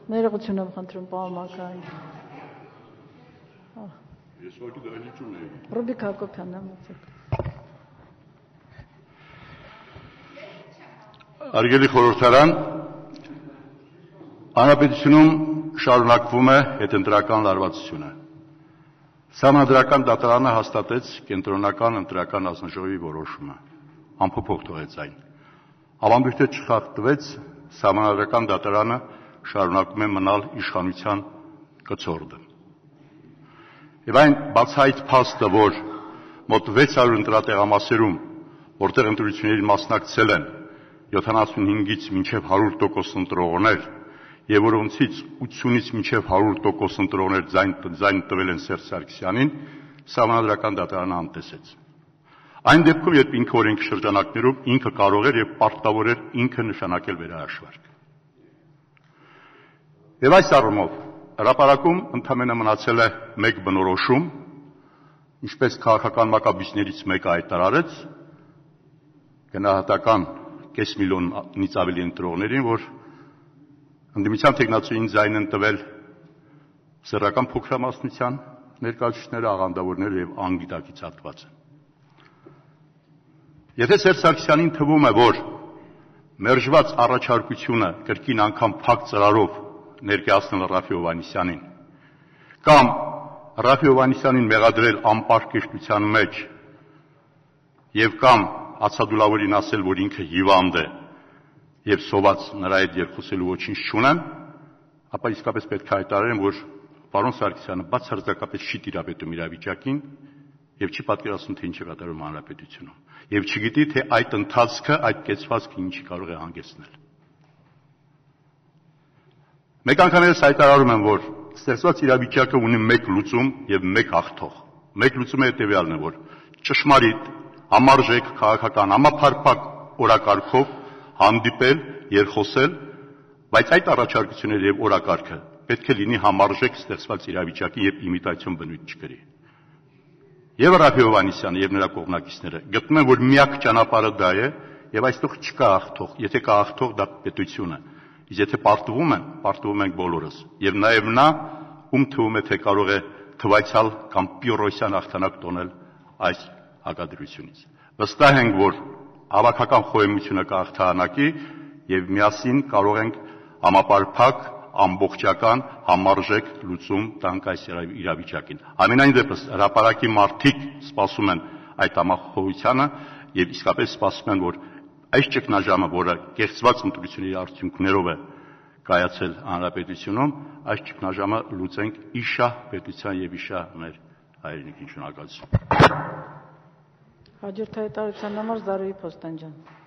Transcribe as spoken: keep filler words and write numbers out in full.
Ներողություն եմ խնդրում, պարոն Մակարյան։ Ես ուղղակի դահլիճում եմ։ Ռուբիկ Հակոբյանն եմ ուսեք։ Հարգելի խորհրդարան, Հանրապետությունում շարունակվում է հետընտրական լարվածությունը։ Սահմանադրական դատարանը հաստատեց կենտրոնական ընտրական հանձնաժողովի որոշումը, անփոփոխ թողեց այն։ Ավանդույթը չխախտվեց, Սահմանադրական դատարանը շարունակում է մնալ իշխանության կցորդը։ Եվ այն բացահայտ փաստը, որ մոտ վեց հարյուր ընտրատեղամասերում, որտեղ ընտրություններին մասնակցել են յոթանասունհինգից մինչև հարյուր տոկոս ընտրողներ, եւ որոնցից ութսունից մինչև հարյուր տոկոս ընտրողներ ձայն տվել են Սերժ Սարգսյանին, Սահմանադրական դատարանը անտեսեց։ Այն դեպքում, երբ ինքը օրենքի շրջանակներում ինքը կարող էր եւ պարտավոր էր ինքը նշանակել վերահաշվարկ։ Եվ այս առումով հրապարակում ընդամենը մնացել է մեկ բնորոշում, ինչպես քաղաքական մակաբույծներից մեկը հայտարարեց, գնահատական կես միլիոնից ավելի ընտրողներին, որ ընդդիմության թեկնածուին ձայն են տվել սեռական փոքրամասնության ներկայացուցիչները, աղանդավորները եւ անգիտակից հատվածը։ Եթե Սերժ Սարգսյանին թվում է, որ մերժված առաջարկությունը կրկին անգամ փակ ծրարով ներկայացնել Ռաֆի Հովհաննիսյանին կամ Ռաֆի Հովհաննիսյանին մեղադրել անպարկեշտության մեջ եւ կամ ացադուլավորին ասել, որ ինքը հիվանդ է եւ սոված նրա հետ երկխոսելու ոչինչ չունեմ, ապա իսկապես պետք է հայտարարեմ, որ պարոն Սարգսյանը բացարձակապես չի տիրապետում իրավիճակին եւ չի պատկերացնում, թե ինչ է կատարվում հանրապետությունում եւ չգիտի, թե այդ ընթացքը, այդ կեցվածքը ինչի կարող է հանգեցնել։ Մեկ անգամ ես հայտարարում եմ, որ ստեղծված իրավիճակը ունի մեկ լուծում եւ մեկ հաղթող։ Մեկ լուծումը հետեւյալն է, որ ճշմարիտ, համարժեք, քաղաքական, համապարփակ օրակարգով հանդիպել, երկխոսել, բայց այդ առաջարկությունները եւ օրակարգը պետք է լինի համարժեք ստեղծված իրավիճակի եւ իմիտացիոն բնույթ չկրի։ Եվ Ռաֆի Հովհաննիսյանը եւ նրա կողմնակիցները գտնում են, որ միակ ճանապարհը դա է եւ այստեղ չկա հաղթող, եթե կա հաղթող, դա պետությունը։ Իսկ եթե պարտվում են, պարտվում ենք բոլորս։ Եվ նաեւ նա, ում թվում է, թե կարող է թվայցալ կամ պյուրոսյան հաղթանակ տոնել այս հակադրությունից։ Վստահ ենք, որ հավաքական խոհեմությունը կհաղթանակի եւ միասին կարող ենք համապարփակ, ամբողջական, համարժեք լուծում տանք այս իրավիճակին։ Ամենայն դեպս հրապարակի մարդիկ սպասում են այդ համախոհությանը եւ իսկապես սպասում են, որ այս ճգնաժամը, որը կեղծված ընտրությունների արդյունքներով է կայացել հանրապետությունում, այս ճգնաժամը լուծենք իշա պետության եւ իշա մեր հայրենիքին։ Շնորհակալություն։ Հաջորդ հայտարարության համար Զարուհի Փոստանջյան։